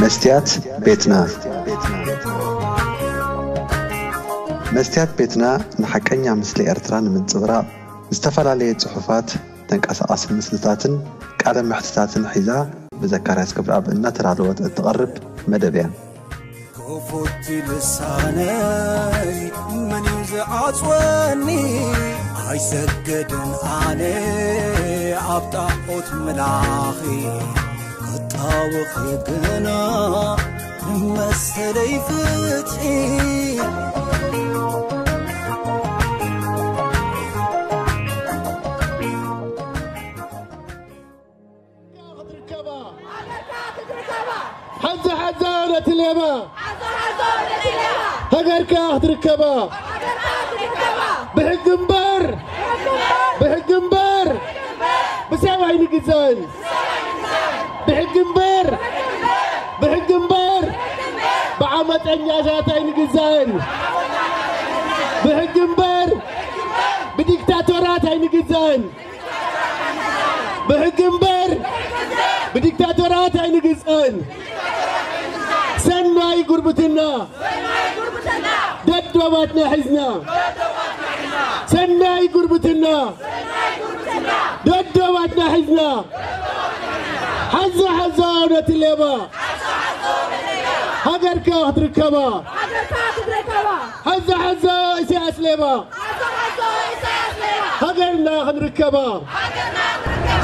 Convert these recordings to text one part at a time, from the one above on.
መስትያት ቤትና። መስትያት ቤትና ንሓቀኛ ምስሊ ኤርትራ ንምንጽብራቕ ዝተፈላለየ ጽሑፋት፣ ተንቀሳቓሲ ምስልታትን ቃለ መሕትታትን ሒዛ ብዘካርያስ ገብረኣብ እናተዳለወት እትቐርብ መደብ እያ። ክፉት ልሳነይ መን እዩ ዝዓጽወኒ? ኣይሰግድን ኣነ ኣብ ጣዖት ምላኺ፣ ክጣወኺ ግና መሰለይ ፍትሒ። ክትርከባ። ሓዛ ሓዛ ነቲ ሌባ። ሓዛ ሓዛ ነቲ ሌባ። ሃገርካ ክትርከባ። ሃገርካ ክትርከባ። ብሕጊ እምበር። ብሕጊ እምበር። ብሕጊ እምበር። ብሰብ ኣይንግዛእን። ብሰብ ኣይንግዛእን። ብሕጊ እምበር። ብሕጊ እምበር። ብሕጊ እምበር። ብሕጊ እምበር። ብዓመፀኛታት ኣይንግዛእን። ብዓመፀኛታት ኣይንግዛእን። ብሕጊ እምበር። ብሕጊ እምበር። ብዲክታቶራት ኣይንግዛእን። ብሕጊ እምበር ብዲክታቶራት ኣይንግዛእን። ሰናይ ጉርብትና ደዶባትና ሒዝና። ሰናይ ጉርብትና ደዶባትና ሒዝና። ሓዛ ሓዛ ነቲ ሌባ። ሃገርካ ክትርከባ። ሓዛ ሓዛ ኢሳያስ ሌባ። ሃገርና ክንርከባ።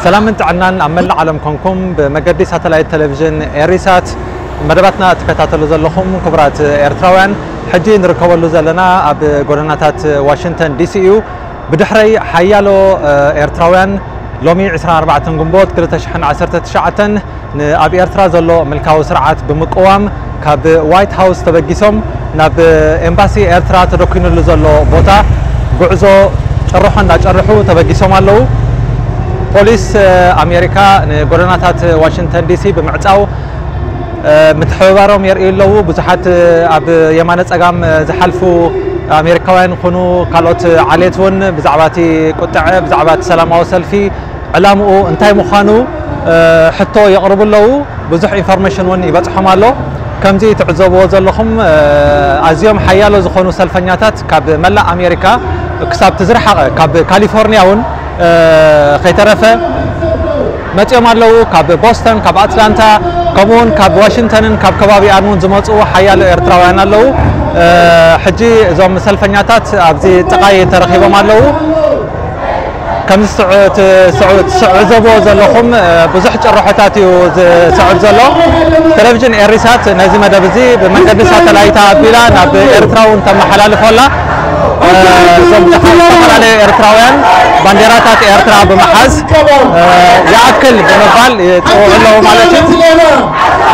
ሰላምን ጥዕናን ኣብ መላእ ዓለም ኮንኩም ብመገዲ ሳተላይት ቴሌቪዥን ኤሪሳት መደባትና ትከታተሉ ዘለኹም ክቡራት ኤርትራውያን፣ ሕጂ ንርከበሉ ዘለና ኣብ ጎደናታት ዋሽንግተን ዲሲ እዩ። ብድሕረይ ሓያሎ፣ እ፣ ኤርትራውያን ሎሚ ዕስራን ኣርባዕተን ግንቦት ክልተ ሽሕን ዓሰርተ ትሽዓተን ንኣብ ኤርትራ ዘሎ ምልካዊ ስርዓት ብምቅዋም ካብ ዋይት ሃውስ ተበጊሶም ናብ ኤምባሲ ኤርትራ ተደኲንሉ ዘሎ ቦታ ጉዕዞ ጭርሖ እንዳጨርሑ ተበጊሶም ኣለዉ። ፖሊስ፣ እ፣ ኣሜሪካ ንጎደናታት ዋሽንግተን ዲሲ ብምዕጻው፣ እ፣ ምትሕብባሮም የርእዩ ኣለዉ። ብዙሓት፣ እ፣ ኣብ የማነ ጸጋም፣ እ፣ ዝሓልፉ ኣሜሪካውያን ይኹኑ ካልኦት ዓሌት እውን ብዛዕባ እቲ ቁጥዐ፣ ብዛዕባ እቲ ሰላማዊ ሰልፊ ዕላምኡ እንታይ ምዃኑ፣ እ፣ ሕቶ የቕርቡ ኣለዉ። ብዙሕ ኢንፎርሜሽን እውን ይበጽሖም ኣሎ። ከምዚ ትዕዘብዎ ዘለኹም፣ እ፣ ኣዝዮም ሓያሎ ዝኾኑ ሰልፈኛታት ካብ መላእ ኣሜሪካ ክሳብ እቲ ዝረሓቐ ካብ ካሊፎርኒያ እውን፣ እ፣ ከይተረፈ መጺኦም ኣለዉ። ካብ ቦስተን፣ ካብ ኣትላንታ፣ ከምኡ እውን ካብ ዋሽንግተንን ካብ ከባቢኣን እውን ዝመጹ ሓያሎ ኤርትራውያን ኣለዉ። እ፣ ሕጂ እዞም ሰልፈኛታት ኣብዚ ጥቓይ ተረኺቦም ኣለዉ። ከምዚ ትስዕ-፣ ትስዕ-፣ ትስዕዘብዎ ዘለኹም፣ እ፣ ብዙሕ ጭርሖታት እዩ ዝስዕብ ዘሎ። ቴሌቪዥን ኤሪሳት ነዚ መደብ እዚ ብመንገዲ ሳተላይት ኣቢላ ናብ ኤርትራ እውን ተመሓላልፎ ኣላ። እ፣ እዞም ዝተፈላለዩ ኤርትራውያን ባንዴራታት ኤርትራ ብምሓዝ፣ እ፣ ይኣክል ብምባል ይጽውዑ ኣለዉ ማለት እዩ።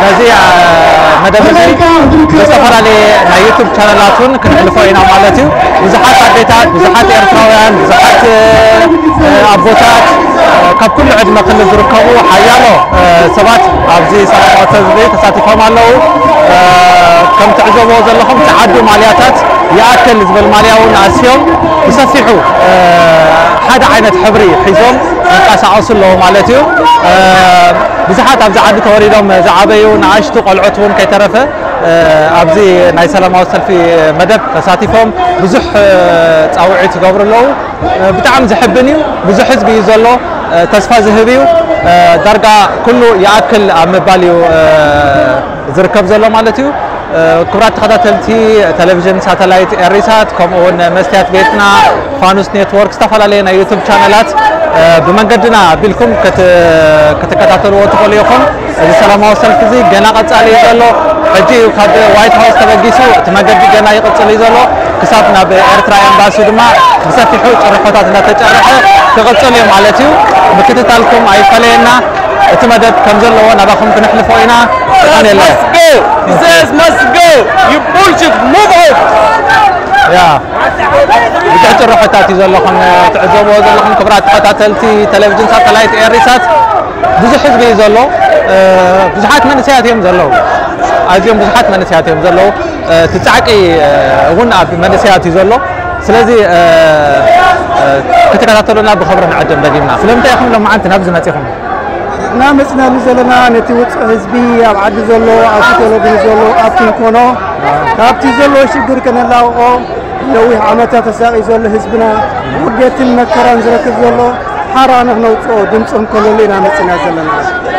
ነዚ፣ እ፣ መደብ እዚ ብዝተፈላለየ ናይ ዩቱብ ቻነላት እውን ክነሕልፎ ኢና ማለት እዩ። ብዙሓት ኣዴታት፣ ብዙሓት ኤርትራውያን፣ ብዙሓት፣ እ፣ ኣቦታት፣ እ፣ ካብ ኩሉ ዕድመ ክልል ዝርከቡ ሓያሎ፣ እ፣ ሰባት ኣብዚ ሰላማዊ ሰልፊ ተሳቲፎም ኣለዉ። እ፣ ከም ትዕዘብዎ ዘለኹም ጸዓዱ ማልያታት ይኣክል ዝብል ማልያ እውን ኣስዮም ብሰፊሑ፣ እ፣ ሓደ ዓይነት ሕብሪ ሒዞም ይንቀሳቐሱ ኣለዉ ማለት እዩ። እ፣ ብዙሓት ኣብዚ ዓዲ ተወሊዶም ዝዓበዩ ንኣሽቱ ቆልዑት እውን ከይተረፈ፣ እ፣ ኣብዚ ናይ ሰላማዊ ሰልፊ መደብ ተሳቲፎም ብዙሕ፣ እ፣ ጻውዒት ይገብሩ ኣለዉ። እ፣ ብጣዕሚ ዘሕብን እዩ። ብዙሕ ህዝቢ እዩ ዘሎ። እ፣ ተስፋ ዝህብ እዩ። እ፣ ዳርጋ ኩሉ ይኣክል ኣብ ምባል እዩ፣ እ፣ ዝርከብ ዘሎ ማለት እዩ። እ፣ ክቡራት ተኸታተልቲ ቴሌቪዥን ሳተላይት ኤሪሳት፣ ከምኡ እውን መስትያት ቤትና፣ ፋኑስ ኔትወርክ፣ ዝተፈላለየ ናይ ዩቱብ ቻነላት፣ እ፣ ብመንገድና ኣቢልኩም ክት-፣ ክትከታተልዎ ትኽእሉ ኢኹም። እዚ ሰላማዊ ሰልፊ እዚ ገና ቀጻሊ እዩ ዘሎ። ሕጂ እዩ ካብ ዋይት ሃውስ ተበጊሱ፣ እቲ መገዲ ገና ይቕጽል እዩ ዘሎ። ክሳብ ናብ ኤርትራ ኤምባሲ ድማ ብሰፊሑ ጭርሖታት እናተጨርሐ ክቕጽል እዩ ማለት እዩ። ምክትታልኩም ኣይፈለየና። እቲ መደብ ከም ዘለዎ ናባኹም ክነሕልፎ ኢና። የቐንየልና። Must go! This must go! You bullshit! Move out! ያ፣ ብዙሕ ጭርሖታት እዩ ዘሎ። ከም ትዕዘብዎ ዘለኹም ክቡራት ተኸታተልቲ ቴሌቪዥን ሳተላይት ኤሪሳት፣ ብዙሕ ህዝቢ እዩ ዘሎ። እ፣ ብዙሓት መንእሰያት እዮም ዘለዉ። ኣዝዮም ብዙሓት መንእሰያት እዮም ዘለዉ። እ፣ እቲ ጻዕቂ፣ እ፣ እውን ኣብ መንእሰያት እዩ ዘሎ። ስለዚ፣ እ፣ እ፣ ክትከታተሉና ብኽብሪ ንዕድም ደጊምና። ስለምንታይ ኢኹም ሎማዓንቲ ናብዚ መጺኹም? እና መፅናሉ ዘለና ነቲ ውፅዕ ህዝቢ ኣብ ዓዲ ዘሎ ኣብቲ ቴሌቪዥን ዘሎ ኣብቲ እንኮኖ ካብቲ ዘለዎ ሽግር ከነላቕቆ ነዊሕ ዓመታት ተሳቒ ዘሎ ህዝብና ውርደትን መከራን ዝረክብ ዘሎ ሓራ ንክነውፅኦ ድምፂ ክንኮነሉ ኢና መፅና ዘለና።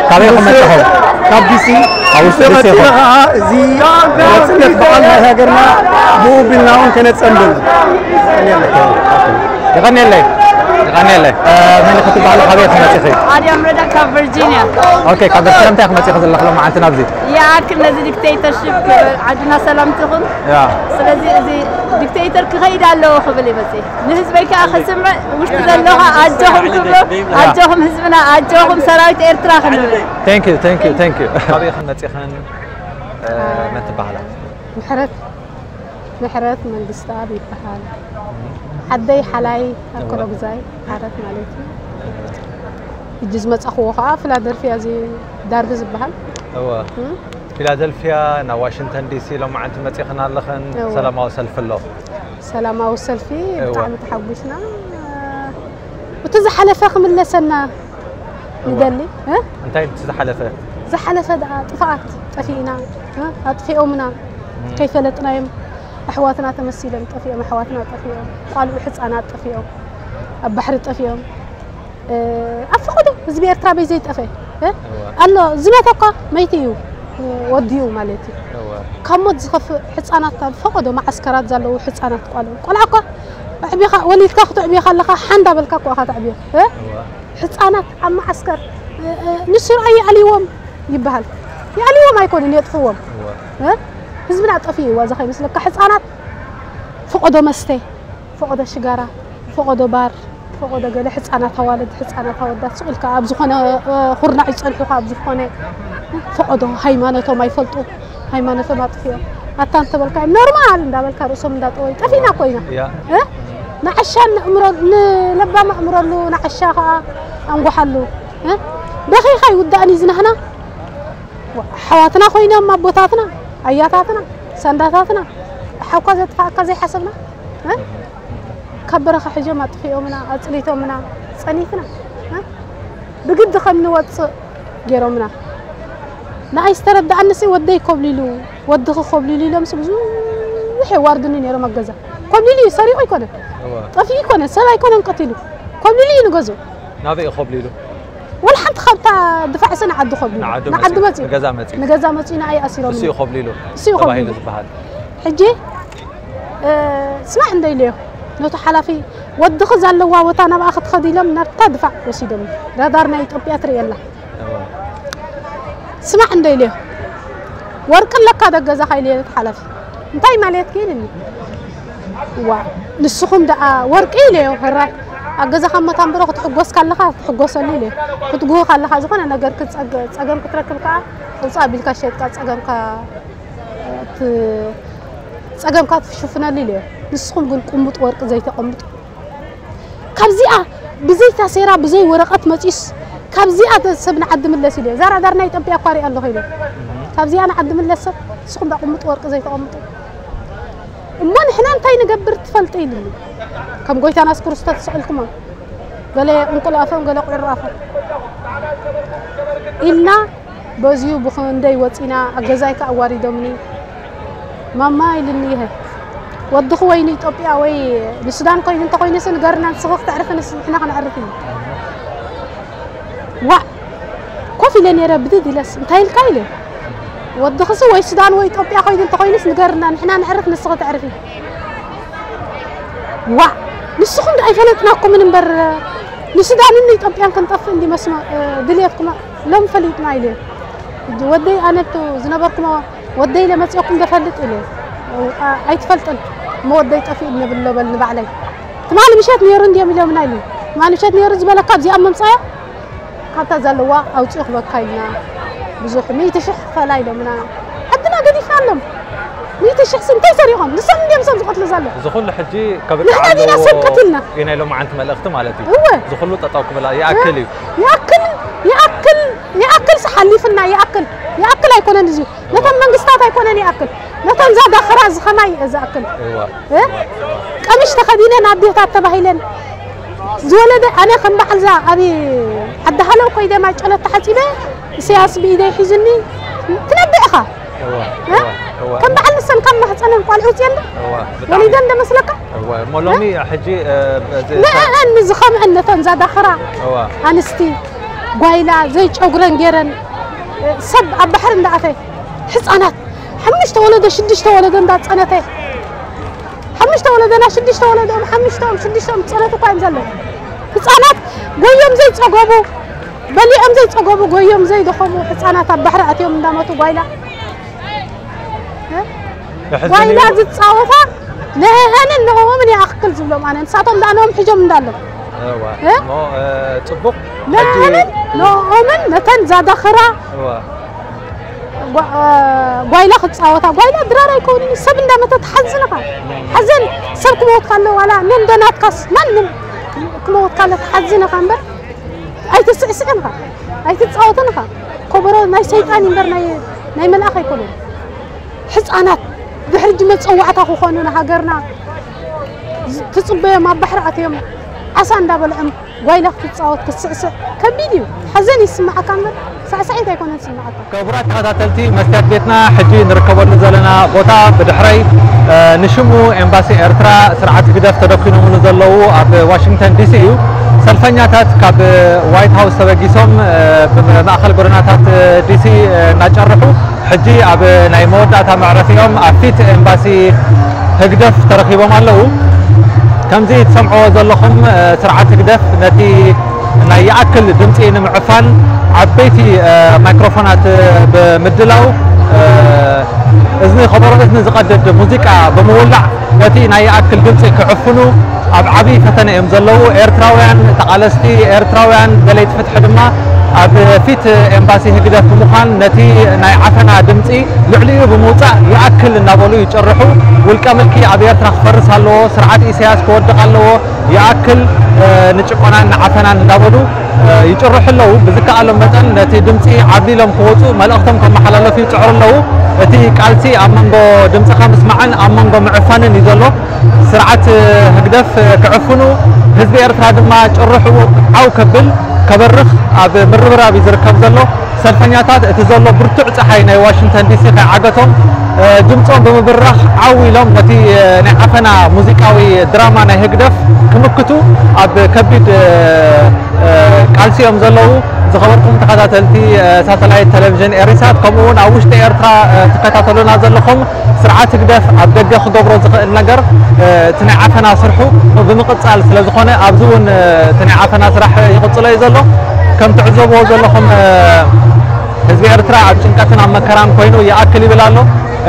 ካበይ ኢኹም መፂኹም? ካብ ዲሲ። ካብ ውሽጢ ዲሲ ኢኹም? ቀፂሉ ከዓ እዚ ናፅነት በዓል ናይ ሃገርና ብኡ ቢልና እውን ከነፀንብል። የቐንየለይ። የቐንየለይ። መን ክትበሃል? ካበይ ኢኹም መፂኹም? ኣድያም ረዳ ካብ ቨርጂኒያ። ኦኬ፣ ካብ ቨርጂኒያ እንታይ ኢኹም መፂኹም ዘለኹም መዓልቲ ናብዚ? ይኣክል ነዚ ዲክቴተርሽፕ ክብል ዓድና ሰላም ትኹን። ያ። ስለዚ እዚ ዲክቴተር ክኸይድ ኣለዎ ክብል ይመፅእ። ንህዝበይ ከዓ ከስምዕ ውሽጢ ዘለኻ ኣጆኹም ክብሎ ኣጆኹም ህዝብና ኣጆኹም ሰራዊት ኤርትራ ክንብል። Thank you, thank you, thank you። ካበይ ኢኹም መፂኹም? መን ትበሃላ? ምሕረት ምሕረት መንግስትኣብ ይበሃል። ዓደይ ሓላይ ኣኮሎግዛይ ሓረት ማለት እዩ። ሕጂ ዝመጻኽዎ ከዓ ፊላደልፊያ እዚ ዳርቢ ዝበሃል። እወ። ፊላደልፊያ ናብ ዋሽንግተን ዲሲ ሎማዓንቲ መጺኽን ኣለኽን። እወ። ሰላማዊ ሰልፊ ኣሎ። ሰላማዊ ሰልፊ እወ። ብጣዕሚ ተሓጒስና። እቲ ዝሓለፈ ክምለሰና ንደሊ እ? እንታይ እቲ ዝሓለፈ? ዝሓለፈ ደኣ ጥፍኣት ጠፊእና እ? ኣጥፊኦምና ከይፈለጥናዮም ኣሕዋትና ተመሲሎም ጠፊኦም ኣሕዋትና ጠፊኦም ቋልዑ ሕፃናት ጠፊኦም ኣብ ባሕሪ ጠፊኦም እ፣ ኣብ ፈቐዶ ህዝቢ ኤርትራ በይ ዘይጠፈ እ? ኣሎ ዝመተ እኳ መይቲ እዩ እ፣ ወዲኡ ማለት እዩ እወ። ካብ ሞት ዝኸፍእ ሕፃናት ኣብ ፈቐዶ መዓስከራት ዘለዉ ሕፃናት ቋልዑ ቆልዓ እኳ ኣዕቢኻ ወሊድካ ክትዕብዮ ከለኻ ሓንዳ በልካ እኳ ኢኻ ተዕብዮ እ? እወ። ህፃናት ኣብ መዓስከር እ፣ እ፣ ንሱ ረኣይ የዕልይዎም ይበሃል። የዕልይዎም ኣይኮኑን የጥፍዎም። እወ። እ? ህዝብና ጠፊእዋ እዚ ከይመስለካ ህፃናት ፈቐዶ መስተ፣ ፈቐዶ ሽጋራ፣ ፈቐዶ ባር፣ ፈቐዶ ገለ ህፃናት ኣዋልድ፣ ህፃናት ኣወዳት ስቕ ኢልካ ኣብ ዝኾነ እ፣ ኩርናዕ ይፀንሑኻ ኣብ ዝኾነ ፈቐዶ ሃይማኖቶም ኣይፈልጡ። ሃይማኖቶም ኣጥፊኦም ኣታ እንተበልካ እዮም ኖርማል እንዳበልካ ርእሶም እንዳጠወዩ ጠፊእና እኮ ኢና ያ። እ? ንዓሻ ንእምሮ ንለባም ኣእምረሉ ንዓሻ ከዓ ኣንጓሓሉ እ? በኺኻ ይውዳእን እዩ ዝናህና ኣሕዋትና ኮይኖም ኣቦታትና ኣያታትና ሰንዳታትና ሓኳ ዘጥፋእካ ዘይሓሰብና እ? ካብ በረኻ ሕጆም ኣጥፊኦምና ኣፅሊቶምና ፀኒትና እ? ብግዲ ከም ንወፅእ ገይሮምና። ንኣይ ዝተረድኣንሲ ወደይ ኮብሊሉ ወድኺ ኮብሊሉ ኢሎምሲ ብዙሕ የዋርዱኒ ነይሮም ኣብ ገዛ። ኮብሊሉ እዩ ሰሪቑ ኣይኮነን እወ። ጠፊኡ ኣይኮነን ሰብ ኣይኮነን ቀቲሉ ኮብሊሉ እዩ ንገዝኡ። ናበይ እዩ ኮብሊሉ? ወላ ሓንቲ ካብታ ድፋዕ ሰ ንዓዱ ኮብሊሉ ንዓዱ ንዓዱ መፂኡ፣ መፂኡ ንገዛ መፂኡ። ንገዛ መፂኡ ንኣይ ኣሲሮም እሱ እዩ ኮብሊሉ እሱ እዩ ተባሂሉ ኮብሊሉ። ዝበሃል። ሕጂ እ፣ ስማዕ እንደ ኢለዮ ነቱ ሓላፊ ወድኺ ዘለዋ ቦታ ናብኣ ክትኸዲ ኢሎም ናብታ ድፋዕ ወሲዶም ራዳር ናይ ኢትዮጵያ ትርእየላ እወ። ስማዕ እንደ ኢለዮ ወርቂ ኣለካ ዶ ገዛኻ ኢለዮ ነቲ ሓላፊ እንታይ ማለት ኢልኒ ዋ ንስኹም ደኣ ወርቂ ኢለዮ ሕራይ ኣብ ገዛኻ እሞ ታንብሮ ክትሕጎስ ካለኻ ክትሕጎሰሉ ኢለዮ ክትጉህ ካለኻ ዝኾነ ነገር ክትጸገ- ጸገም ክትረክብ ከኣ ውጻእ ኣቢልካ ሸጥካ ጸገምካ እቲ ጸገምካ ትሽፍነሉ ኢለዮ ንስኹም ግን ቁምጥ ወርቂ ዘይተቐምጡ ካብዚኣ ብዘይ ታሴራ ብዘይ ወረቐት መፂስ ካብዚኣ ሰብ ንዓዲ ምለስ ኢለ እዛ ራዳር ናይ ኢትዮጵያ እኳ ሪኣ ኣለኹ ኢለ ካብዚኣ ንዓዲ ምለስ ሰብ ንስኹም ዳ ቁምጡ ወርቂ ዘይተቐምጡ እሞ ንሕና እንታይ ንገብር ትፈልጢ ኢልኒ ከም ጎይታና የሱስ ክርስቶስ ስቕ ኢልኩሞ ገለ እንቁላፎም ገለ ቁዕራፎም ኢልና በዚኡ ብኽንደይ ወፂና ኣብ ገዛይ ከ ኣዋሪዶምኒ ማማ ኢልኒ ይሀ ወድኺ ወይ ንኢትዮጵያ ወይ ንሱዳን ኮይኑ እንተኮይኑስ ንገርና ንስኺ ክተዕርፊ ንስ ንሕና ከነዕርፍ እዩ ዋዕ ኮፍ ኢለ ነይረ ብድድ ኢለስ እንታይ ኢልካ ኢለ ወድኽሲ ወይ ሱዳን ወይ ኢትዮጵያ ኮይኑ እንተኮይኑስ ንገርና ንሕና ነዕርፍ ንስኺ ተዕርፊ ዋዕ ንስኹም ዶ ኣይፈለጥናኩምን እምበር ንሱዳንን ንኢትዮጵያን ክንጠፍእ እንዲ መስመ ድልየትኩም ሎም ፈሊጥና ኢለ ሕጂ ወደይ ኣነቱ ዝነበርኩሞ ወደይ ለመፅኦኩም ደፈልጥ ኢለ ኣይትፈልጥን እሞ ወደይ ጠፊኡ ነብሎ በል ንባዕለይ ትማሊ ምሸት ነይሩ እንዲዮም ኢሎምና ኢሉ ትማሊ ምሸት ነይሩ ዝበለካ ኣብዚኣ መምፃዮ ካብታ ዘለዋ ኣውፅኡ ክበካ ኢልና ብዙሕ ሚእቲ ሽሕ ክፈላ ኢሎምና ዓድና ገዲፍና ኣሎም ሚእቲ ሽሕ ሲ እንታይ ሰሪሖም ንሶም እንዲዮም ሰብ ዝቐትሉ ዘሎ እዚ ኩሉ ሕጂ ከብቅዕ ኣለዎ ኢና ኢሎም ዓንቲ መልእኽቲ ማለት እዩ እዚ ኩሉ ጠጠው ክብል ይኣክል እዩ ይኣክል ይኣክል ይኣክል ሓሊፍና ይኣክል ይኣክል ኣይኮነን እዚ ነተን መንግስታት ኣይኮነን ይኣክል ነተን ዛዳኸራ ዝኸማይ ዝኣክል ቀሚሽ ተኸዲነን ኣዴታት ተባሂለን ዝወለደ ኣነ ከም በዓል እዛ ኣብ ዓዲ ሃለው ኮይደ ማይ ጨለት ተሓጺበ ኢሳያስ ብኢደይ ሒዙኒ ትነብዕ ኢኻ። እዋ፣ እ? እዋ፣ እዋ። ከም በዓል ንሰን ካብ ማህፀነን ቆልዑ ውፅየን ዶ? እዋ፣ ብጣዕሚ። ወሊደን ዶ መስለካ? እዋ፣ እሞ ሎሚ ሕጂ፣ እ፣ በዚ ንአን ንዝኸምዐን ነተን ዛዳኽራ እዋ። ኣንስቲ ጓይላ ዘይጨጉረን ገይረን፣ እ፣ ሰብ ኣብ ባሕሪ እንዳኣተ ህፃናት ሓሙሽተ ወለዶ ሽዱሽተ ወለዶ እንዳፀነተ ሓሙሽተ ወለዶና ሽዱሽተ ወለዶም ሓሙሽተኦም ሽዱሽተኦም ፀነቱ እኳ እዮም ዘለዉ። ህፃናት ጎዮም ዘይፀገቡ፣ በሊዖም ዘይፀገቡ፣ ጎዮም ዘይደኸሙ ህፃናት ኣብ ባሕሪ ኣትዮም እንዳመቱ ጓይላ፣ እ? የሕዝን ጓይላ እዩ። ዝፃወታ ንእህንን ንእኦምን ይኣክል ዝብሎም ኣነ። ንሳቶም ደኣ ንኦም ሒዞም እንዳሎም። እዋ። እ? እሞ፣ እ፣ ፅቡቕ። ንእህንን ንእኦምን ነተን ዛዳኽራ እዋ። ጓ-፣ እ፣ ጓይላ ክፃወታ። ጓይላ ድራር ኣይከውንን፣ ሰብ እንዳመተት ሓዝንኻ። ሓዘን ሰብ ክመወት ካለ ዋላ ነንደናትካስ ማንም ክመወት ካለ ትሓዝንኻ እምበር ኣይትስዕስዕን ኢኻ፣ ኣይትጻወትን ኢኻ። ኮበሮ ናይ ሰይጣን እምበር ናይ፣ ናይ መልኣኽ ኣይኮነን። ህጻናት ድሕሪ ሕጂ መጸዋዕታ ክኾኑ ንሃገርና ዝ-፣ ትጽበዮም ኣብ ባሕሪ ኣትዮም ዓሳ እንዳበልዖም ጓይላ ክትጻወት ክትስዕስዕ ከቢድ እዩ። ሓዘን ይስምዓካ እምበር ሳዕሳዒት ኣይኮነን ዝስምዓካ። ክቡራት ተኸታተልቲ መስትያት ቤትና፣ ሕጂ ንርከበሉ ዘለና ቦታ ብድሕረይ፣ እ፣ ንሽሙ ኤምባሲ ኤርትራ ስርዓት ህግደፍ ተደኲኖምሉ ዘለዉ ኣብ ዋሽንግተን ዲሲ እዩ። ሰልፈኛታት ካብ ዋይት ሃውስ ተበጊሶም፣ እ፣ ብማእኸል ጎደናታት ዲሲ፣ እ፣ እናጨርሑ ሕጂ ኣብ ናይ መወዳእታ መዕረፊኦም ኣብ ፊት ኤምባሲ ህግደፍ ተረኺቦም ኣለዉ። ከምዚ ትሰምዕዎ ዘለኹም፣ እ፣ ስርዓት ህግደፍ ነቲ ናይ ይኣክል ድምፂ ንምዕፋን ዓበይቲ፣ እ፣ ማይክሮፎናት ብምድላው፣ እ፣ እዝኒ ከበሮ እዝኒ ዝቐድድ ሙዚቃ ብምውላዕ ነቲ ናይ ይኣክል ድምፂ ክዕፍኑ ኣብ ዓብዪ ፈተነ እዮም ዘለዉ። ኤርትራውያን ተቓለስቲ፣ ኤርትራውያን ደለይቲ ፍትሒ ድማ ኣብ ፊት ኤምባሲ ህግደፍ ብምዃን ነቲ ናይ ዓፈና ድምፂ ልዕሊኡ ብምውፃእ ይኣክል እናበሉ ይጭርሑ። ውልቀ ምልኪ ኣብ ኤርትራ ክፈርስ ኣለዎ፣ ስርዓት ኢሳያስ ክወድቕ ኣለዎ፣ ይኣክል፣ እ፣ ንጭቆናን ንዓፈናን እንዳበሉ፣ እ፣ ይጭርሑ ኣለዉ። ብዝከኣሎም መጠን ነቲ ድምፂ ዓብሊሎም ክወፁ መልእኽቶም ከመሓላለፉ ይፅዕሩ ኣለዉ። እቲ ቃልሲ ኣብ መንጎ ድምፅኻ ምስማዕን ኣብ መንጎ ምዕፋንን እዩ ዘሎ። ስርዓት ህግደፍ ክዕፍኑ፣ ህዝቢ ኤርትራ ድማ ጭርሑ ዓው ከብል፣ ከበርኽ ኣብ ምርብራብ እዩ ዝርከብ ዘሎ። ሰልፈኛታት እቲ ዘሎ ብርቱዕ ጸሓይ ናይ ዋሽንግተን ዲሲ ከይዓገቶም፣ እ፣ ድምጾም ብምብራኽ ዓው ኢሎም ነቲ፣ እ፣ ናይ ዓፈና ሙዚቃዊ ድራማ ናይ ህግደፍ ክምክቱ ኣብ ከቢድ፣ እ፣ እ፣ ቃልሲ እዮም ዘለዉ። ዝኸበርኩም ተኸታተልቲ፣ እ፣ ሳተላይት ቴሌቪዥን ኤሪሳት፣ ከምኡ እውን ኣብ ውሽጢ ኤርትራ፣ እ፣ ትከታተሉና ዘለኹም፣ ስርዓት ህግደፍ ኣብ ደገ ክገብሮ ዝኽእል ነገር፣ እ፣ እቲ ናይ ዓፈና ስርሑ ብምቕጻል ስለ ዝኾነ፣ ኣብዚ እውን፣ እ፣ እቲ ናይ ዓፈና ስራሕ ይቕጽሎ እዩ ዘሎ። ከም ትዕዘብዎ ዘለኹም፣ እ፣ ህዝቢ ኤርትራ ኣብ ጭንቀትን ኣብ መከራን ኮይኑ ይኣክል ይብል ኣሎ።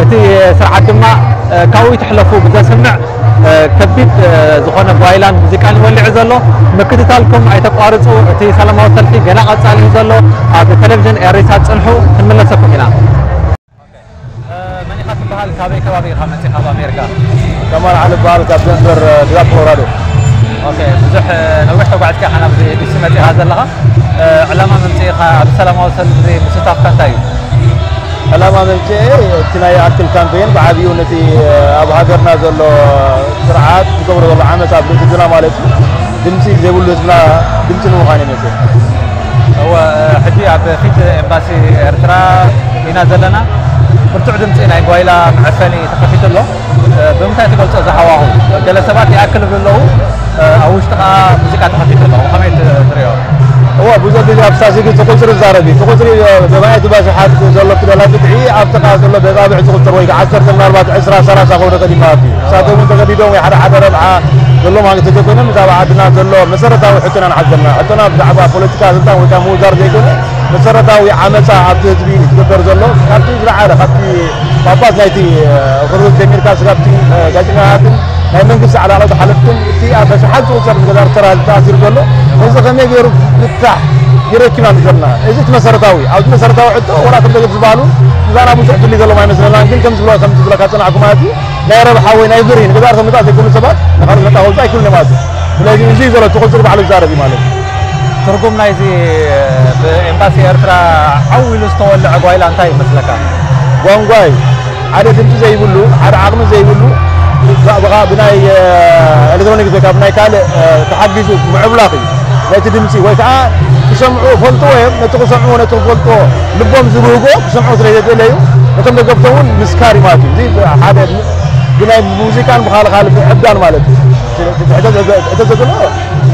እቲ ስርዓት ድማ፣ እ፣ ካብኡ ይትሕለፉ ብዘስምዕ፣ እ፣ ከቢድ፣ እ፣ ዝኾነ ጓይላን ሙዚቃን ይወልዕ ዘሎ። ምክትታልኩም ኣይተቋርጹ። እቲ ሰላማዊ ሰልፊ ገና ቀጻሊ እዩ ዘሎ። ኣብ ቴሌቪዥን ኤሪሳት ጽንሑ፣ ክንምለሰኩም ኢና። እ፣ መን ኢኻ ትበሃል? ካበይ ከባቢ ኢኻ መጺኻ ኣብ ኣሜሪካ? ከማል ዓሊ እበሃል፣ ካብ ደንቨር፣ እ፣ ግዛት ኮሎራዶ። ኦኬ፣ ብዙሕ፣ እ፣ ነዊሕ ተጓዒዝካ ኢኻ ናብዚ ዲሲ መጺኻ ዘለኻ። እ፣ ዕላማ ምምጽኢኻ፣ ኣብ ሰላማዊ ሰልፊ ምስታፍካ እንታይ እዩ? ዕላማ ምምጽኤ፣ እቲ ናይ ኣክል ካምፔን ብዓቢኡ ነቲ፣ እ፣ ኣብ ሃገርና ዘሎ ስርዓት ዝገብሮ ዘሎ ዓመጻ ኣብ ህዝብና ማለት እዩ። ድምጺ ዘይብሉ ህዝብና ድምጺ ንምዃን እዩ መጽእ። እወ፣ ሕጂ ኣብ ፊት ኤምባሲ ኤርትራ ኢና ዘለና። ብርቱዕ ድምጺ ናይ ጓይላ መዐፈኒ ተኸፊቱ ኣሎ። ብምንታይ ትገልጾ እዚ ሃዋሁ? ገለ ሰባት ይኣክል ይብሉ ኣለዉ፣ ኣብ ውሽጢ ከኣ ሙዚቃ ተኸፊቱ ኣሎ። ከመይ ት-፣ ትርእዮ? እወ፣ ብዙሕ ግዜ ኣብ ስታቲስቲክስ እቲ ቁጽሪ ይዛረብ እዩ። እቲ ቁጽሪ ብማየት ባሽሓት ዘሎ እቲ ደላ ብድዒ ኣብቲ ከኣ ዘሎ በጻብዕ ዝቑጸር ወይ ከኣ ዓሰርተ ምናልባት ዕስራ ሰላሳ ክኸውን ይኽእል እዩ ማለት እዩ። ንሳቶም እውን ተገዲዶም ወይ ሓደ ሓደ ረብሓ ዘለዎም ሃገር ተዘይኮይኖም፣ ብዛዕባ ዓድና ዘሎ መሰረታዊ ሕቶና ንሓዘልና። ሕቶና ብዛዕባ ፖለቲካ ስልጣን ወይ ከዓ ምውዛር ዘይኮነ፣ መሰረታዊ ዓመፃ ኣብቲ ህዝቢ ዝግበር ዘሎ፣ ካብቲ ዝለዓለ፣ ካብቲ ጳጳስ ናይቲ፣ እ፣ ኦርቶዶክስ ጀሚርካ፣ ስጋብቲ፣ እ፣ ጋዜጠኛታትን ናይ መንግስቲ ዓላላዊ ሓለፍትን፣ እቲ ኣብ ኣሽሓት ዝቑጸር ንገዛር ተራ ተኣሲሩ ዘሎ፣ እዚ ከመይ ገይሩ ፍታሕ ይረክብ ኢና ዘለና። እዚ እቲ መሰረታዊ፣ ኣብዚ መሰረታዊ ሕቶ፣ ወላ እቶም ደገፍ ዝበሃሉ፣ ምሳና ብዙሕ ድልድል ዘለዎም ኣይመስለናን፣ ግን ከም ዝብሎ፣ ከም ዝብለካ ዝጸናሕኩ ማለት እዩ፣ ናይ ረብሓ ወይ ናይ ብሪ ንገዛር ተምጻእ ዘይኮኑ ሰባት ንኻልእ ነጻ ከውጽኡ ኣይክእሉን እዮም ማለት እዩ። ስለዚ እዚ እዩ ዘሎ፣ እቲ ቁጽሪ ባዕሉ ዝዛረብ እዩ ማለት እዩ። ትርጉም ናይዚ ብኤምባሲ ኤርትራ ዓው ኢሉ ዝተወልዐ ጓይላ እንታይ ይመስለካ? ጓንጓይ፣ ሓደ ድምጺ ዘይብሉ፣ ሓደ ዓቕሚ ዘይብሉ፣ ብናይ ኤሌክትሮኒክስ ወይ ከዓ ብናይ ካልእ ተሓጊዙ ምዕብላኽ እዩ። ነቲ ድምፂ ወይ ከዓ ክሰምዑ ፈልጥዎ እዮም። ነቲ ክሰምዑ ነቲ ክፈልጥዎ ልቦም ዝብህጎ ክሰምዑ ስለ ዘደለዩ ነቶም ደገፍቶም እውን ምስካር እዩ ማለት እዩ። እዚ ሓደ ብናይ ሙዚቃን ብካልእ ካልእ ብዕብዳን ማለት እዩ። ሕቶ ዘድሎ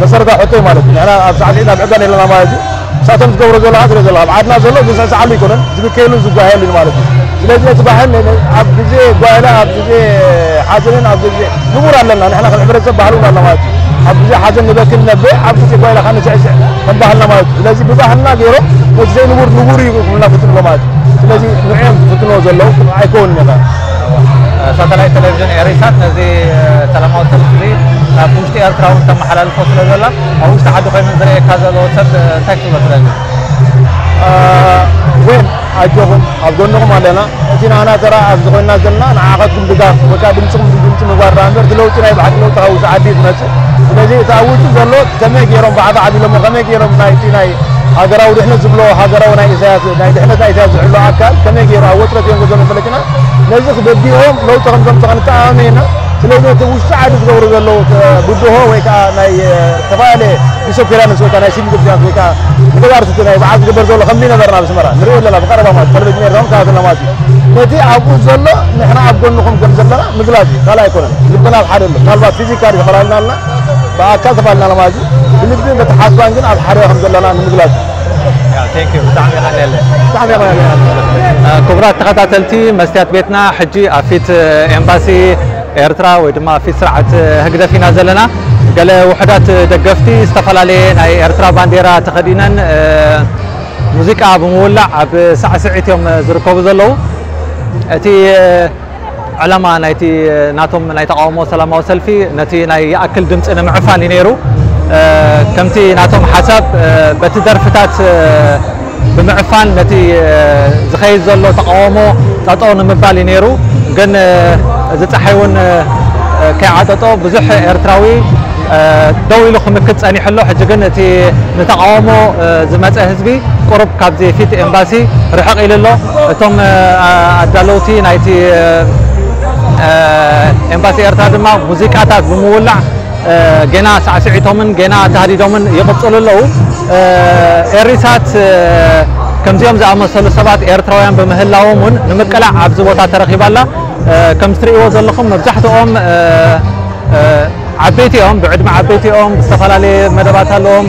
መሰረታዊ ሕቶ እዩ ማለት እዩ። ንሕና ኣብ ሳዕስዒት ኣብ ዕብዳን የለና ማለት እዩ። ንሳቶም ዝገብሮ ዘለካ ትሪኦ ዘለካ ኣብ ዓድና ዘሎ ዝስዕስዓሉ ኣይኮነን፣ ዝብከየሉ ዝጓየሉ ማለት እዩ። ስለዚ እቲ ባህል ኣብ ግዜ ጓይላ ኣብ ግዜ ሓዘንን ኣብ ግዜ ንቡር ኣለና። ንሕና ከም ሕብረተሰብ ባህል እውን ኣለና ማለት እዩ። ኣብ ግዜ ሓዘን ንበኪ ንነብዕ፣ ኣብ ግዜ ጓይላ ከዓ ንስዕስዕ ከም ባህልና ማለት እዩ። ስለዚ ብባህልና ገይሮም ነቲ ዘይንቡር ንቡር እዩ ክብሉና ፍትንዎ ማለት እዩ። ስለዚ ንዕኦም ዝፍትንዎ ዘለዉ ኣይከውንን ኢኻ። ሳተላይት ቴሌቪዥን ኤሪሳት ነዚ ሰላማዊ ሰልፊ እዚ ናብ ውሽጢ ኤርትራ እውን ተመሓላልፎ ስለ ዘላ ኣብ ውሽጢ ዓዲ ኮይነን ዝረእየካ ዘለዎ ሰብ እንታይ ክትብሎ ትደሊ? ወይን ኣጆኹም ኣብ ጎንኹም ኣለና። እቲ ናና ተራ ኣብዚ ኮይና ዘለና ንዓኻትኩም ድጋፍ ወይ ከዓ ድምፅኹም ድምፂ ምግባር ደኣ እምበር እቲ ለውጢ ናይ ብሓቂ ለውጢ ካብ ውሽጢ ዓዲ እዩ ዝመፅእ። ስለዚ እቲ ኣብ ውሽጢ ዘሎ ከመይ ገይሮም ባዕባዕ ኣቢሎሞ ከመይ ገይሮም ናይቲ ናይ ሃገራዊ ድሕነት ዝብሎ ሃገራዊ ናይ ኢሳያስ ናይ ድሕነት ናይ ኢሳያስ ዝሕሎ ኣካል ከመይ ገይሩ ኣብ ወጥረት እዮም ዘሎ ፈለጥና ነዚ ክበዲኦም ለውጢ ከም ዘምፅእ ክንተኣማመን ኢና። ስለዚ እቲ ውሽጢ ዓዲ ዝገብሩ ዘለዉ ብድሆ ወይ ከዓ ናይ ዝተፈላለየ ዲስኦፒራንስ ወይ ከዓ ናይ ሲቪል ዲስኦፒራንስ ወይ ከዓ ንተጋሩ ስቲ ናይ በዓል ዝግበር ዘሎ ከም ዘይነበርና ኣብ ኣስመራ ንሪኦ ኣለና ብቀረባ ማለት ተለቪዥን ኤርትራ ከታተልና ማለት እዩ። ነቲ ኣብኡ ዘሎ ንሕና ኣብ ጎንኹም ከም ዘለና ምግላፅ እዩ ካልእ ኣይኮነን። ልብና ኣብ ሓደ ኣሎ። ምናልባት ፊዚካሊ ተፈላልና ኣለና ብኣካል ተፋልና ማለት እዩ። ብልቢ በተሓስባን ግን ኣብ ሓደ ከም ዘለና ንምግላፅ እዩ። ብጣዕሚ ቀለለ። ክቡራት ተኸታተልቲ መስትያት ቤትና ሕጂ ኣብ ፊት ኤምባሲ ኤርትራ ወይ ድማ ፊት ስርዓት ህግደፍ ኢና ዘለና። ገለ ውሑዳት ደገፍቲ ዝተፈላለየ ናይ ኤርትራ ባንዴራ ተኸዲነን ሙዚቃ ብምውላዕ ኣብ ሳዕስዒት እዮም ዝርከቡ ዘለዉ። እቲ ዕላማ ናይቲ ናቶም ናይ ተቃውሞ ሰላማዊ ሰልፊ ነቲ ናይ ይኣክል ድምፂ ንምዕፋን እዩ ነይሩ። ከምቲ ናቶም ሓሳብ በቲ ደርፍታት ብምዕፋን ነቲ ዝኸይድ ዘሎ ተቃውሞ ጠጠው ንምባል እዩ ነይሩ። ግን እዚ ፀሓይ እውን ከይዓጠጦ ብዙሕ ኤርትራዊ ደው ኢሉ ክምክት ፀኒሑ ኣሎ። ሕጂ ግን እቲ ንተቃውሞ ዝመፀ ህዝቢ ቁሩብ ካብዚ ፊት ኤምባሲ ርሕቕ ኢሉ ኣሎ። እቶም ኣዳለውቲ ናይቲ ኤምባሲ ኤርትራ ድማ ሙዚቃታት ብምውላዕ ገና ሳዕስዒቶምን ገና ተሃዲዶምን ይቕፅሉ ኣለዉ። ኤሪሳት ከምዚኦም ዝኣመሰሉ ሰባት ኤርትራውያን ብምህላዎም እውን ንምቅላዕ ኣብዚ ቦታ ተረኺባ ኣላ። ከም እትርእይዎ ዘለኹም መብዛሕትኦም ዓበይቲ እዮም፣ ብዕድመ ዓበይቲ እዮም፣ ዝተፈላለየ መደባት ኣለዎም።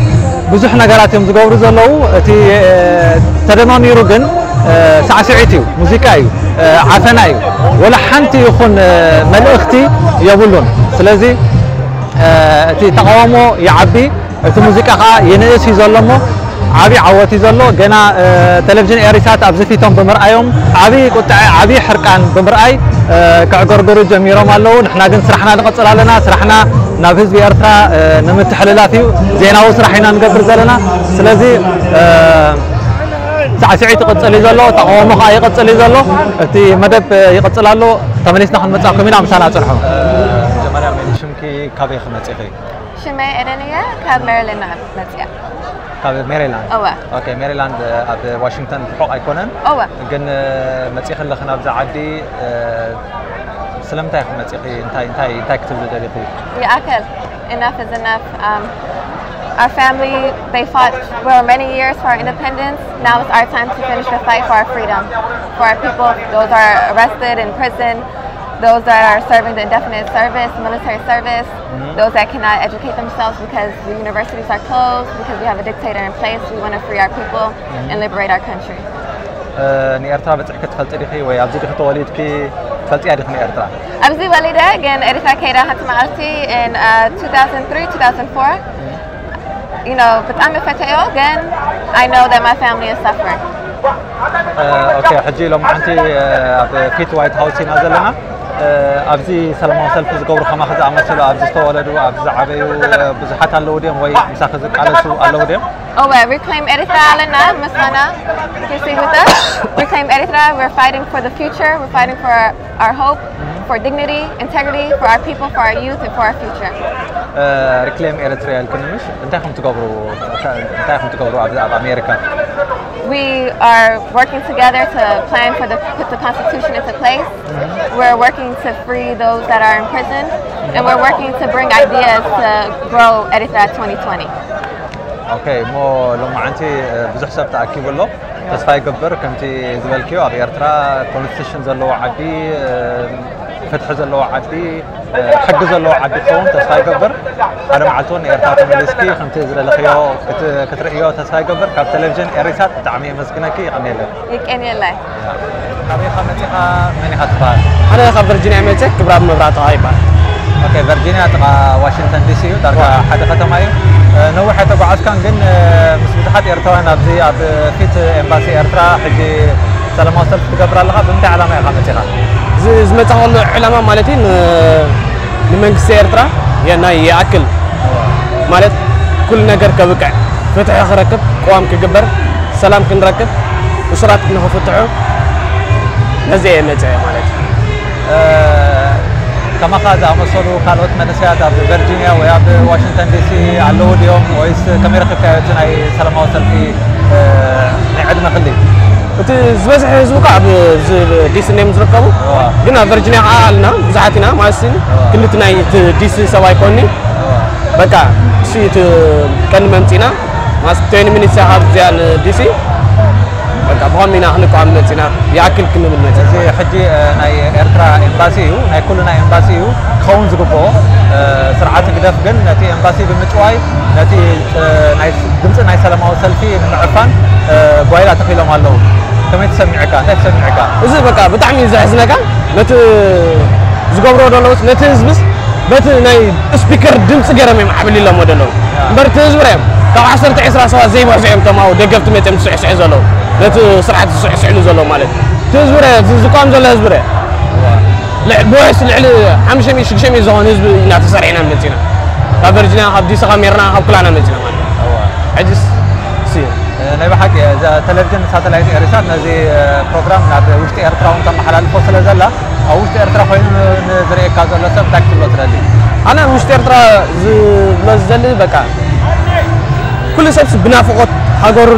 ብዙሕ ነገራት እዮም ዝገብሩ ዘለዉ። እቲ ተደማሚሩ ግን ሳዕስዒት እዩ፣ ሙዚቃ እዩ፣ ዓፈና እዩ። ወላ ሓንቲ ይኹን መልእኽቲ የብሉን። ስለዚ እቲ ተቃውሞ ይዓቢ፣ እቲ ሙዚቃ ከዓ ይንእስ እዩ ዘሎ እሞ ዓብዪ ዓወት እዩ ዘሎ። ገና ቴሌቪዥን ኤሪሳት ኣብዚ ፊቶም ብምርኣዮም ዓብዪ ቁጥዐ ዓብዪ ሕርቃን ብምርኣይ ከዕገርግሩ ጀሚሮም ኣለዉ። ንሕና ግን ስራሕና ንቐፅል ኣለና። ስራሕና ናብ ህዝቢ ኤርትራ ንምትሕልላፍ እዩ። ዜናዊ ስራሕ ኢና ንገብር ዘለና። ስለዚ ሳዕስዒት ይቕፅል እዩ ዘሎ፣ ተቃውሞ ከዓ ይቕፅል እዩ ዘሎ። እቲ መደብ ይቕፅል ኣሎ። ተመሊስና ክንመፃኩም ኢና። ምሳና ፅንሑ። መጀመርያ መን ሽምኪ፣ ካበይ ክመፂኺ? ሽመይ ኤደን እየ፣ ካብ ሜሪላንድ መፅያ። ካብ ሜሪላንድ። እወ። ኦኬ፣ ሜሪላንድ ኣብ ዋሽንግተን ርሑቕ ኣይኮነን። እወ። ግን መፂኺ ኣለኺ ናብዛ ዓዲ ስለምንታይ ኢኺ መፂኺ? እንታይ እንታይ እንታይ ክትብሊ ደሊኺ? ይኣክል፣ enough is enough. Um, our family, they fought for many years for our independence. Now it's our time to finish the fight for our freedom, for our people. Those are arrested in prison, those that are serving the indefinite service, military service, those that cannot educate themselves because the universities are closed, because we have a dictator in place. We want to free our people and liberate our country. ንኤርትራ በፂሕኪ ትፈልጢ ዲኺ ወይ ኣብዚ ዲኺ ተወሊድኪ? ትፈልጥያ ዲኺ ንኤርትራ? ኣብዚ ወሊደ ግን ኤሪትራ ከይደ ሓንቲ መዓልቲ in uh, two thousand three two thousand four you know ብጣዕሚ ፈተዮ ግን I know that my family is suffering. ኦኬ፣ ሕጂ ሎማዓንቲ ኣብ ፊት ዋይት ሃውስ ኢና ዘለና። ኣብዚ ሰላማዊ ሰልፊ ዝገብሩ ከማኺ ዝኣመሰሉ ኣብዚ ዝተወለዱ ኣብዚ ዝዓበዩ ብዙሓት ኣለዉ ድዮም ወይ ምሳኺ ዝቃለሱ ኣለዉ ድዮም? Oh, well, Reclaim Eritrea ኣለና ምሳና you see with us. Reclaim Eritrea, we're fighting for the future, we're fighting for our hope, for dignity, integrity, for our people, for our youth, and for our future. ሪክሌም ኤሪትሪያ ኢልክኒ ምሽ? እንታይ ከም ትገብሩ እንታይ ከም ትገብሩ ኣብዚ ኣብ ኣሜሪካ? We are working together to plan for the put the constitution into place. We're working to free those that are in prison, and we're working to bring ideas to grow Eritrea twenty twenty. ኦኬ፣ እሞ ሎማዓንቲ ብዙሕ ሰብ ተኣኪቡ ኣሎ። ተስፋ ይገብር ከምቲ ዝበልክዮ ኣብ ኤርትራ ኮንስቲቱሽን ዘለዎ ዓዲ፣ ፍትሒ ዘለዎ ዓዲ፣ ሕጊ ዘለዎ ዓዲ ክኸውን ተስፋ ይገብር። ሓደ መዓልቲ እውን ኤርትራ ተመሊስኪ ከምቲ ዝደለኽዮ ክትርእዮ ተስፋ ይገብር። ካብ ቴሌቪዥን ኤሪሳት ብጣዕሚ የመስግነኪ። ይቐንየለን። ይቀንየላይ። ካበይ ኢኻ መፂኻ? መን ኢኻ ትበሃል? ኣነ ካብ ቨርጂኒያ መፅእ ክብራብ መብራቱ ይበሃል። ኦኬ፣ ቨርጂኒያ ጥቓ ዋሽንግተን ዲሲ እዩ። ዳርጋ ሓደ ከተማ እዩ። ነዊሕ ኣይተጓዓዝካን፣ ግን ምስ ብዙሓት ኤርትራውያን ኣብዚ ኣብ ፊት ኤምባሲ ኤርትራ ሕጂ ሰላማዊ ሰልፊ ትገብር ኣለኻ። ብምንታይ ዓላማ ኢኻ መፂኻ? ዝመፃኸሉ ዕላማ ማለት እዩ ንመንግስቲ ኤርትራ ናይ ይኣክል ማለት ኩሉ ነገር ከብቅዕ፣ ፍትሒ ክረክብ፣ ቅዋም ክግበር፣ ሰላም ክንረክብ፣ እሱራት ንክፍትሑ ነዚ እየ መፅአ ማለት እዩ። ከማኻ ዝኣመሰሉ ካልኦት መንእሰያት ኣብ ቨርጂኒያ ወይ ኣብ ዋሽንግተን ዲሲ ኣለዉ ድዮም ወይስ ከመይ ረኺብካዮ እቲ ናይ ሰላማዊ ሰልፊ ናይ ዕድመ ክሊ? እቲ ዝበዝሐ ህዝቢ እኳ ኣብ ዲሲ እዮም ዝርከቡ፣ ግን ኣብ ቨርጂኒያ ከዓ ኣልና ብዙሓት ኢና ማለት ክልቲ ናይ ዲሲ ሰብ ኣይኮኒ በቃ እሱ እቲ ቀንዲ መምፂና ማስ ትዌንቲ ሚኒትስ እያ ካብ እዚኣ ንዲሲ በቃ ብኸም ኢና ክንቃወም መፂና ይኣክል ክንብል መፂና። እዚ ሕጂ ናይ ኤርትራ ኤምባሲ እዩ፣ ናይ ኩልና ኤምባሲ እዩ ክኸውን ዝግብኦ። ስርዓት ህግደፍ ግን ነቲ ኤምባሲ ብምጭዋይ ነቲ ድምፂ ናይ ሰላማዊ ሰልፊ ንምዕፋን ጓይላ ተኺሎም ኣለዉ። ከመይ ተሰሚዕካ? እንታይ ተሰሚዕካ? እዚ በቃ ብጣዕሚ እዩ ዘሕዝነካ። ነቲ ዝገብሮ ዘለውስ ነቲ ህዝብስ በቲ ናይ ስፒከር ድምፂ ገይሮም እዮም ዓብሊሎሞ ዘለዉ እምበር እቲ ህዝቢ ርኦም ካብ ዓሰርተ ዕስራ ሰባት ዘይበዝሑ እዮም እቶም ኣብኡ ደገፍቲ መፅኦም ዝስዕስዑ ዘለዉ ነቲ ስርዓት ዝስዕስዕሉ ዘለዉ ማለት እዩ እቲ ህዝቢ ርኦ እዚ ዝቃወም ዘሎ ህዝቢ ርኦ ብውሕስ ልዕሊ ሓሙሽተ ሚእቲ ሽዱሽተ ሚእቲ ዝኾን ህዝቢ ኢና ተሰሪዕና መፂና ካብ ቨርጂኒያ ካብ ዲሲ ካብ ሜርና ካብ ኩላና መፂና ማለት እዩ ሕጅስ እሱ እዩ ናይ ብሓቂ እዛ ቴሌቪዥን ሳተላይት ኤሪሳት ነዚ ፕሮግራም ናብ ውሽጢ ኤርትራ እውን ተመሓላልፎ ስለ ዘላ ኣብ ውሽጢ ኤርትራ ኮይኑ ንዝርእየካ ዘሎ ሰብ እንታይ ክትብሎ ትደሊ? ኣነ ውሽጢ ኤርትራ ዝብሎ ዝደሊ በቃ ኩሉ ሰብስ ብናፍቆት ሃገሩ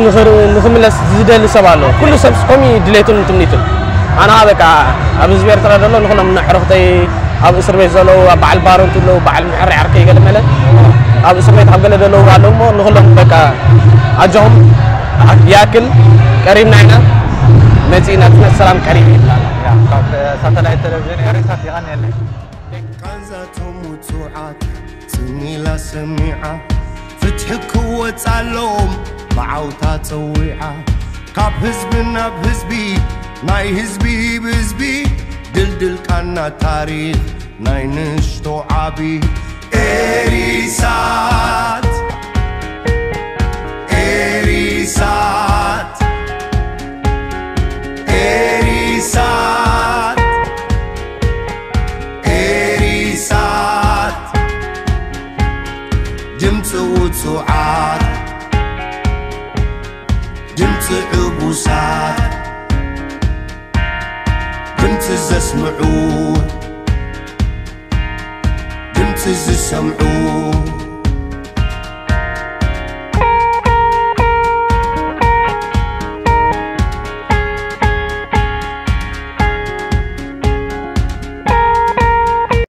ንክምለስ ዝደሊ ሰብ ኣሎ። ኩሉ ሰብስ ከምኡ እዩ ድሌቱን ትምኒቱን። ኣነ ከዓ በቃ ኣብ ህዝቢ ኤርትራ ዘሎ ንኩሎም ንኣዕሩኽተይ ኣብ እስር ቤት ዘለዉ ኣብ በዓል ባሮንቱ ኣለዉ በዓል ምሕሪ ዓርከይ ገለ መለ ኣብ እስር ቤት ኣብ ገለ ዘለዉ ኣለዉ እሞ ንኩሎም በቃ ኣጆኹም ይኣክል ቀሪብና ኢና መፂእና እቲ ሰላም ቀሪብ ይብላና። ካብ ሳተላይት ቴሌቪዥን ኤሪሳት የቐንየለይ። ቃንዛቶም ውጹዓት ጽን ኢላ ሰሚዓ ፍትሒ ክወጻሎም ብዓውታ ጸዊዓ ካብ ህዝቢ ናብ ህዝቢ ናይ ህዝቢ ብህዝቢ ድልድል ቃና ታሪኽ ናይ ንእሽቶ ዓቢ ኤሪሳት ኤሪሳት ኤሪሳት ኤሪሳት ድምፂ ውፁዓት ድምፂ ዕቡሳት ድምፂ ዘስምዑ ድምፂ ዝሰምዑ